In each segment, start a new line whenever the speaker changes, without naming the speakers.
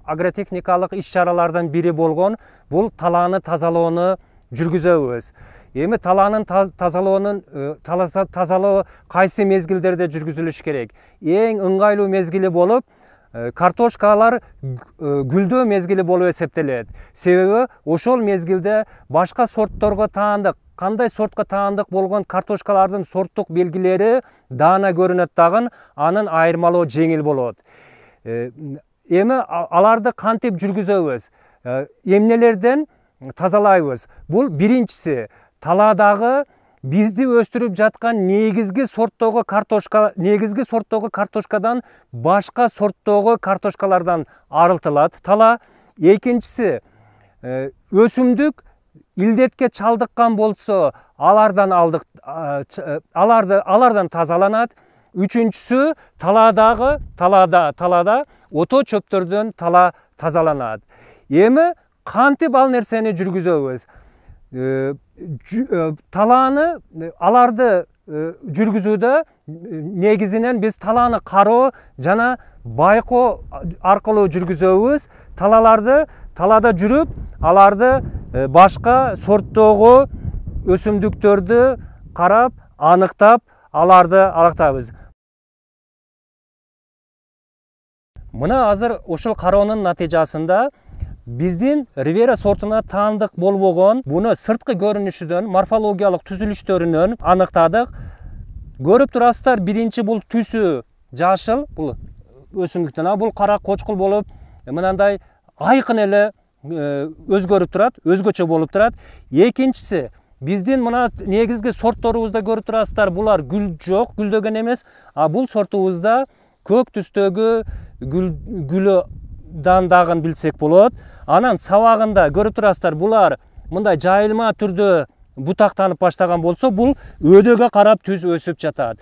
агротехникалык иш-чаралардан бири болгон бул талааны тазалоону жүргүзөбүз. Эми талаанын тазалоо кайсы мезгилдерде жүргүзүлүш керек? Эң ыңгайлуу мезгили болуп, картошкалар гүлдөө мезгили болуп эсептелет. Себеби ошол мезгилде башка сортторго таандык, кандай сортко таандык болгон картошкалардын сорттук белгилери даана көрүнөт дагы, анын айырмалоо жеңил болот. Эми аларды кантип жүргүзөбүз? Эмнелерден тазалайбыз? Бул биринчиси талаадагы бизди өстүрүп жаткан негизги сорттогу картошкадан башка сорттогу картошкалардан арылтылат тала. Экинчиси өсүмдүк илдетке чалдыккан болсо алардан тазаланат. Үчүнчүсү талаада ото чөптөрдөн тала тазаланат. Эми кантип ал нерсени жүргүзөбүз? Аларды жүргүзүүдө негизинен биз талааны кароо жана байкоо аркылуу жүргүзөбүз. Талаада жүрүп, аларды башка сорттогу өсүмдүктөрдү карап, аныктап, аларды аныктайбыз. Мына азыр ушул кароонун натыйжасында биздин Ривера сортуна таандык болбогон буну сырткы көрүнүшүдөн, морфологиялык түзүлүштөрүнөн аныктадык. Көрүп турасыздар, биринчи бул түсү жашыл, бул өсүмдүктөн, бул кара кочкул болуп, мынандай айкын эле өзгөрүп турат, өзгөчө болуп турат. Экинчиси, биздин мына негизги сортторубузда көрүп турасыздар, булар гүл жок, гүлдөгөн эмес, бул сортубузда көк түстөгү гүлү дагын билсек болот. Анан сабагында көрүп турасыздар, булар мындай жайылма түрдө бутактанып баштаган болсо, бул өдөгө карап түз өсүп жатат.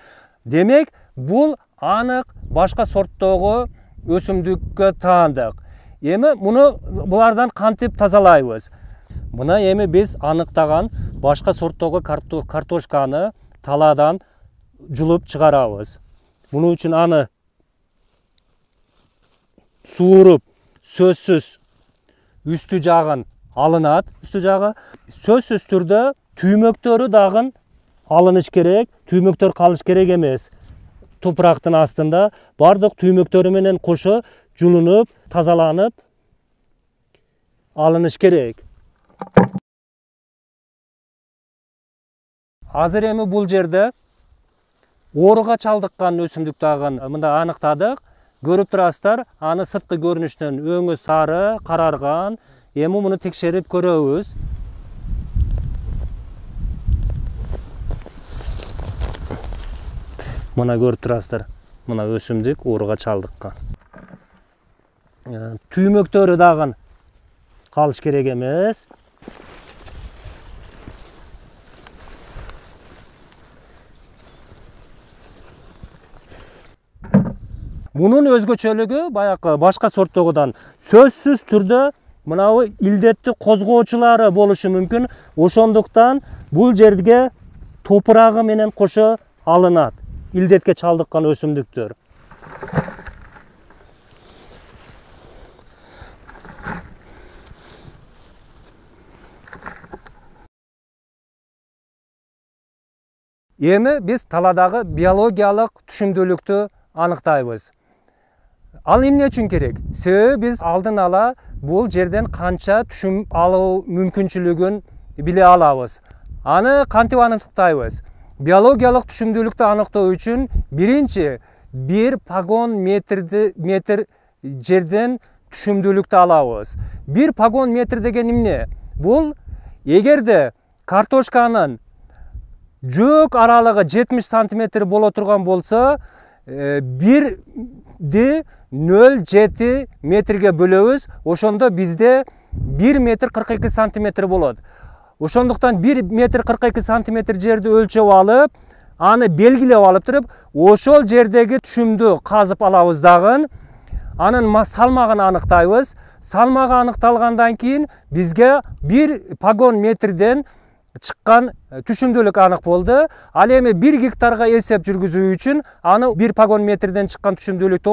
Демек, бул анык башка сорттогу өсүмдүккө таандык. Эми булардан кантип тазалайбыз? Мына эми биз аныктаган башка сорттогу картошканы талаадан жулуп чыгарабыз. Муну үчүн аны сууруп, сөзсүз үстү жагын алынат. Үстү жагы сөзсүз түрдө түймөктөрү дагы алыныш керек. Түймөктөр калыш керек эмес. Топурактын астында бардык түймөктөрү менен кошо жулунуп, тазаланып алыныш керек. Азыр эми бул жерде ооруга чалдыккан өсүмдүк дагы мында аныктадык. Көрүп турасыздар, аны сырткы көрүнүштөн өңү сары, карарган. Эми муну текшерип көрөбүз. Мына көрүп турасыздар, мына өсүмдүк ооруга чалдыккан. Түймөктөрү дагы калыш керек эмес. Мунун өзгөчөлүгү баягы башка сорттогудан сөзсүз түрдө мынабу илдетти козгоочулары болушу мүмкүн. Ошондуктан бул жерге топурагы менен кошо алынат илдетке чалдыккан өсүмдүктөр. Эми биз таладагы биологиялык түшүмдүүлүктү аныктайбыз. Ал эмне үчүн керек? Себеби биз алдын ала бул жерден канча түшүм алуу мүмкүнчүлүгүн биле алабыз. Аны кантип аныктайбыз? Биологиялык түшүмдүүлүктү аныктоо үчүн биринчи 1 погон метр жерден түшүмдүүлүктү алабыз. 1 погон метр деген эмне? Бул эгерде картошканын жөөк аралыгы 70 сантиметр боло турган болсо, 1,07 метрге бөлөбүз. Ошондо бизде 1 метр 42 сантиметр болот. Ошондуктан 1 метр 42 сантиметр жерди өлчөп алып, аны белгилеп алып туруп, ошол жердеги түшүмдү казып алабыз дагы. Анын салмагын аныктайбыз. Салмагы аныкталгандан кийин бизге 1 погон метрден чыккан түшүмдүүлүк анык болду. Ал эми 1 гектарга эсеп жүргүзүү үчүн аны 1 погон метрден чыккан түшүмдүүлүктү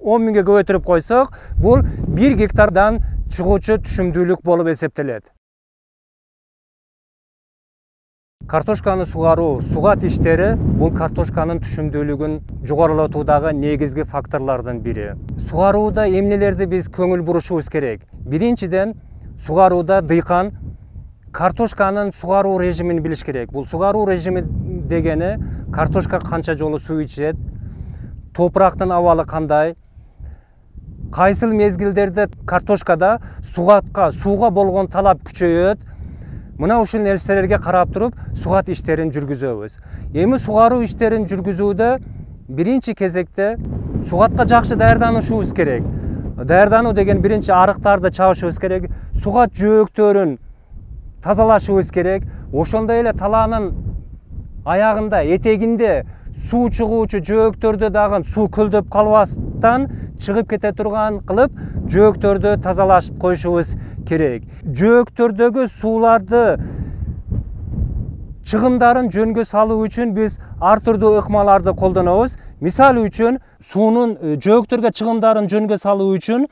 10 миңге көбөйтүрүп койсок, бул 1 гектардан чыгуучу түшүмдүүлүк болуп эсептелет. Картошканы сугаруу, сугат иштери бул картошканын түшүмдүүлүгүн жогорулатуудагы негизги факторлордун бири. Сугарууда эмнелерди биз көңүл бурушубуз керек? Биринчиден, сугарууда дыйкан картошканын сугаруу режимин билиш керек. Бул сугаруу режими дегени картошка канча жолу суу ичет, топурактын абалы кандай, кайсыл мезгилдерде картошкада сууга болгон талап күчөйөт. Мына ушул нерселерге карап туруп сугат иштерин жүргүзөбүз. Эми сугаруу иштерин жүргүзүүдө биринчи кезекте сугатка жакшы даярданышыбыз керек. Даярдануу деген биринчи арыктарды чабышыбыз керек, сугат жөөктөрүн тазалашыбыз керек. Ошондой эле талаанын аягында, этегинде суу чыгуучу жөөктөрдү дагы суу көлдөп калбастан чыгып кете турган кылып жөөктөрдү тазалашып коюшубуз керек. Жөөктөрдөгү сууларды чыгымдарын жөнгө салуу үчүн биз ар түрдүү ыкмаларды колдонобуз. Мисалы үчүн суунун жөөктөргө чыгымдарын жөнгө салуу үчүн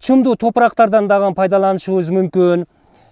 чымдуу топурактардан дагы пайдаланышыбыз мүмкүн.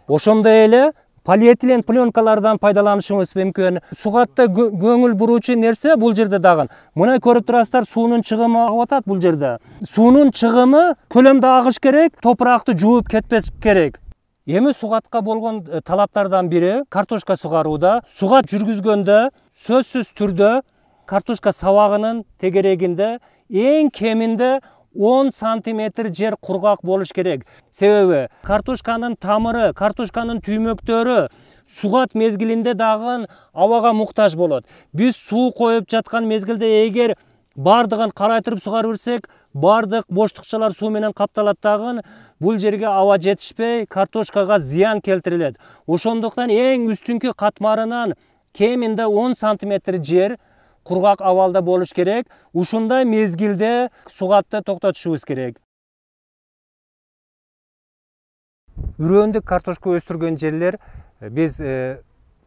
Ошондой эле полиэтилен пленкалардан пайдаланышыбыз мүмкүн. Сугатта көңүл буруучу нерсе бул жерде дагы. Мына көрүп турасыздар, суунун чыгымы агып атат бул жерде. Суунун чыгымы көлөмдө агыш керек, топуракты жууп кетпеш керек. Эми сугатка болгон талаптардан бири картошка сугарууда сугат жүргүзгөндө сөзсүз түрдө картошка сабагынын тегерегинде эң кеминде 10 сантиметр жер кургак болуш керек. Себеби картошканын тамыры, картошканын түймөктөрү сугат мезгилинде дагы абага муктаж болот. Биз суу коюп жаткан мезгилде эгер бардыгын карай туруп сугарып берсек, бардык боштукчалар суу менен капталат дагы, бул жерге аба жетишпей, картошкага зыян келтирилет. Ошондуктан эң үстүнкү катмарынан кеминде 10 сантиметр жер кургак абалда болуш керек. Ушундай мезгилде сугатты токтотушубуз керек. Үрөндүк картошка өстүргөн жерлер биз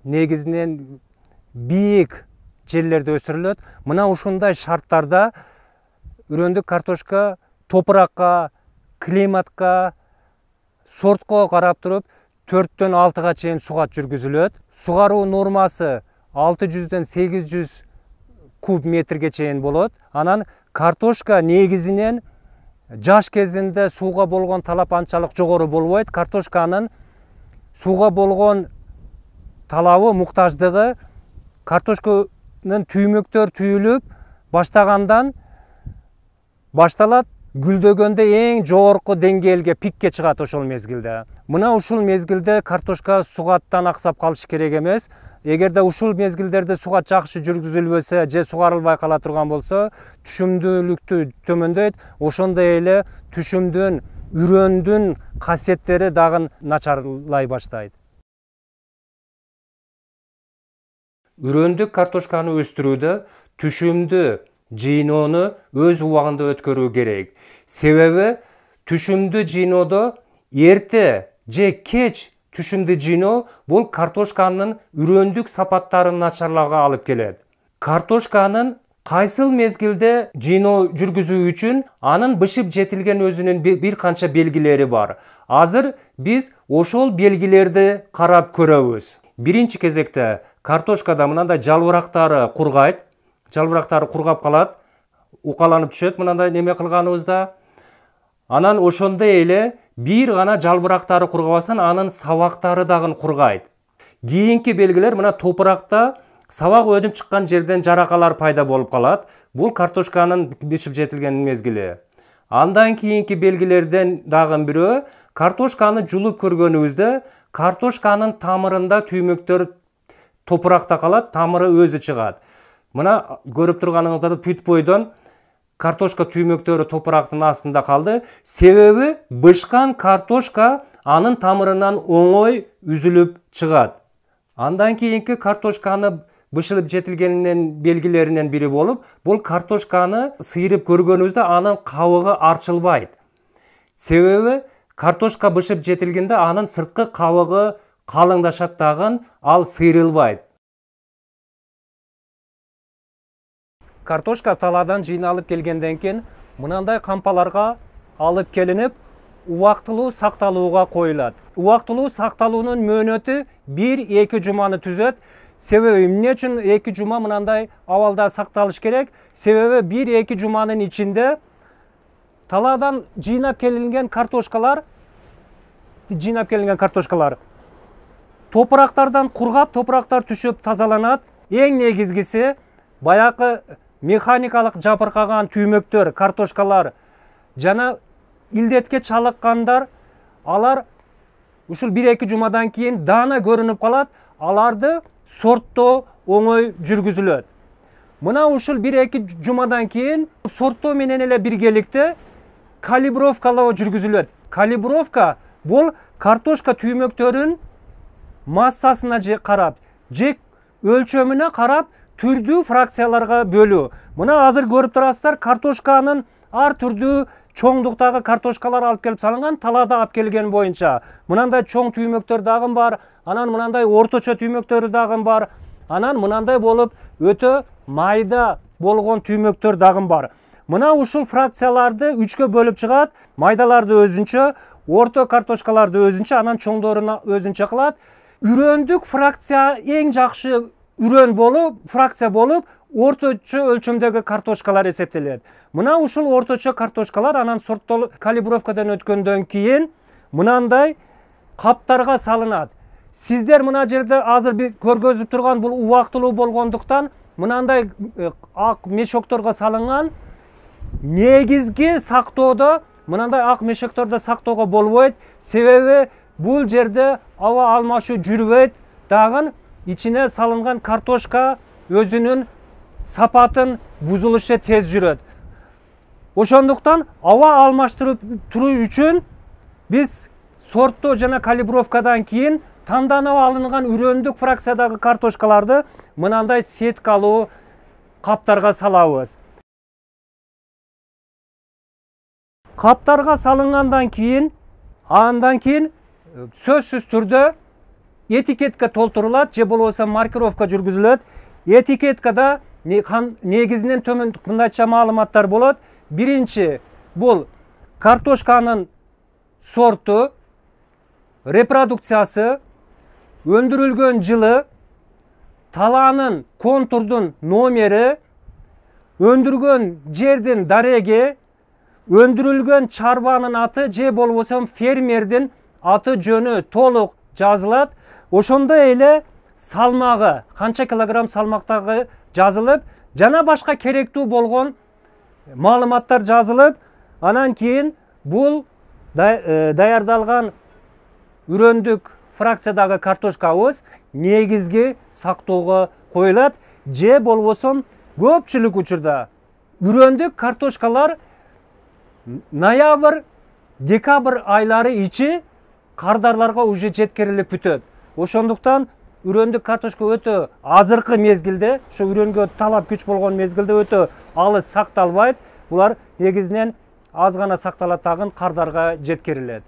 негизинен бийик жерлерде өстүрүлөт. Мына ушундай шарттарда үрөндүк картошка топуракка, климатка, сортко карап туруп 4-төн 6-га чейин сугат жүргүзүлөт. Сугаруу нормасы 600-ден 800 куб метрге чейин болот. Анан картошка негизинен жаш кезинде сууга болгон талап анчалык жогору болбойт. Картошканын сууга болгон талабы, муктаждыгы картошканын түймөктөр түйүлүп баштагандан башталат, гүлдөгөндө эң жогорку деңгээлге, пикке чыгат ошол мезгилде. Мына ушул мезгилде картошка сугаттан аксап калыш керек эмес. Эгерде ушул мезгилдерде сугат жакшы жүргүзүлбөсө же сугарылбай кала турган болсо, түшүмдүүлүктү төмөндөйт. Ошондой эле түшүмдүн, үрөндүн касиеттери дагы начарлай баштайт. Үрөндүк картошканы өстүрүүдө түшүмдү жыйноону өз убагында өткөрүү керек. Себеби түшүмдү жыйноодо эрте же кеч түшүмдү жыйноо бул картошканын үрөндүк сапаттарын начарлауга алып келет. Картошканын кайсыл мезгилде жыйноо жүргүзүү үчүн анын бышып жетилген өзүнүн бир канча белгилери бар. Азыр биз ошол белгилерди карап көрөбүз. Биринчи кезекте картошкада мындай жалбырактары кургайт. Жалбырактары кургап калат, укаланып түшөт мындай неме кылганыбызда. Анан ошондой эле бир гана жалбырактары кургабастан анын сабактары дагы кургайт. Кийинки белгилер мына топуракта сабак өнүп чыккан жерден жаракалар пайда болуп калат. Бул картошканын бышып жетилген мезгили. Андан кийинки белгилерден дагы бирөө картошканы жулуп көргөнүбүздө картошканын тамырында түймөктөр топуракта калат, тамыры өзү чыгат. Мына көрүп турганыңыздар бүт бойдон картошка түймөктөрү топурактын астында калды. Себеби бышкан картошка анын тамырынан оңой үзүлүп чыгат. Андан кийинки картошканы бышылып жетилгенинин белгилеринен бири болуп, бул картошканы сыйрып көргөнүбүздө анын кабыгы арчылбайт. Себеби картошка бышып жетилгенде анын сырткы кабыгы калыңдашат дагы, ал сыйрылбайт. Картошка талаадан жыйналып келгенден кийин мынандай кампаларга алып келинип убактылуу сакталууга коюлат. Убактылуу сакталуунун мөөнөтү 1-2 жуманы түзөт. Себеби эмне үчүн 2 жума мынандай абалда сакталыш керек? Себеби 1-2 жуманын ичинде талаадан жыйнап келинген картошкалар топурактардан кургап, топурактар түшүп тазаланат. Эң негизгиси баягы механикалык жабыркаган түймөктөр, картошкалар жана илдетке чалыккандар, алар ушул 1-2 жумадан кийин даана көрүнүп калат. Аларды сорттоо оңой жүргүзүлөт. Мына ушул 1-2 жумадан кийин сорттоо менен эле биргеликте калибровкалоо жүргүзүлөт. Калибровка бул картошка түймөктөрүн массасына карап, же өлчөмүнө карап түрдүү фракцияларга бөлүү. Мына азыр көрүп турасыздар, картошканын ар түрдүү чоңдуктагы картошкалар алып келип салынган, талаада алып келген боюнча. Мынандай чоң түймөктөр дагы бар, анан мынандай орточо түймөктөр дагы бар, анан мынандай болуп өтө майда болгон түймөктөр дагы бар. Мына ушул фракцияларды 3кө бөлүп чыгат, майдаларды өзүнчө, орто картошкаларды өзүнчө, анан чоңдорун өзүнчө кылат. Үрөндүк фракция эң жакшы үрөн болуп, фракция болуп, орточо өлчөмдөгү картошкалар эсептелет. Мына ушул орточо картошкалар анан сорттолуп калибровкадан өткөндөн кийин мынандай каптарга салынат. Сиздер мына жерде азыр көргөзүп турган бул убактылуу болгондуктан мынандай ак мешокторго салынган. Негизги сактоодо мынандай ак мешоктордо сактоого болбойт. Себеби бул жерде аба алмашуу жүрбөйт. Дагы ичине салынган картошка өзүнүн сапатын бузулушу тез жүрөт. Ошондуктан аба алмаштырып туруу үчүн биз сорттоо жана калибровкадан кийин танданып алынган үрөндүк фракциядагы картошкаларды мынандай сеткалуу каптарга салабыз. Каптарга салынгандан кийин, андан кийин сөзсүз түрдө этикетка толтурулат же болбосо маркировка жүргүзүлөт. Этикеткада негизинен төмөн мындайча маалыматтар болот. Биринчи бул картошканын сорту, репродукциясы, өндүрүлгөн жылы, талаанын контурдун номери, өндүргөн жердин дареги, өндүрүлгөн чарбанын аты же болбосо фермердин аты жөнү толук жазылат. Ошондой эле салмагы, канча килограмм салмактагы жазылып, жана башка керектүү болгон маалыматтар жазылып, анан кийин бул даярдалган үрөндүк фракциядагы картошкабыз негизги сактоого коюлат. Же болбосо көпчүлүк учурда үрөндүк картошкалар ноябрь, декабрь айлары ичи кардарларга уже жеткирилип бүтөт. Ошондуктан үрөндүк картошка өтө азыркы мезгилде, ошо үрөнгө талап күч болгон мезгилде өтө алыс сакталбайт. Булар негизинен аз гана сакталат, дагы кардарга жеткирилет.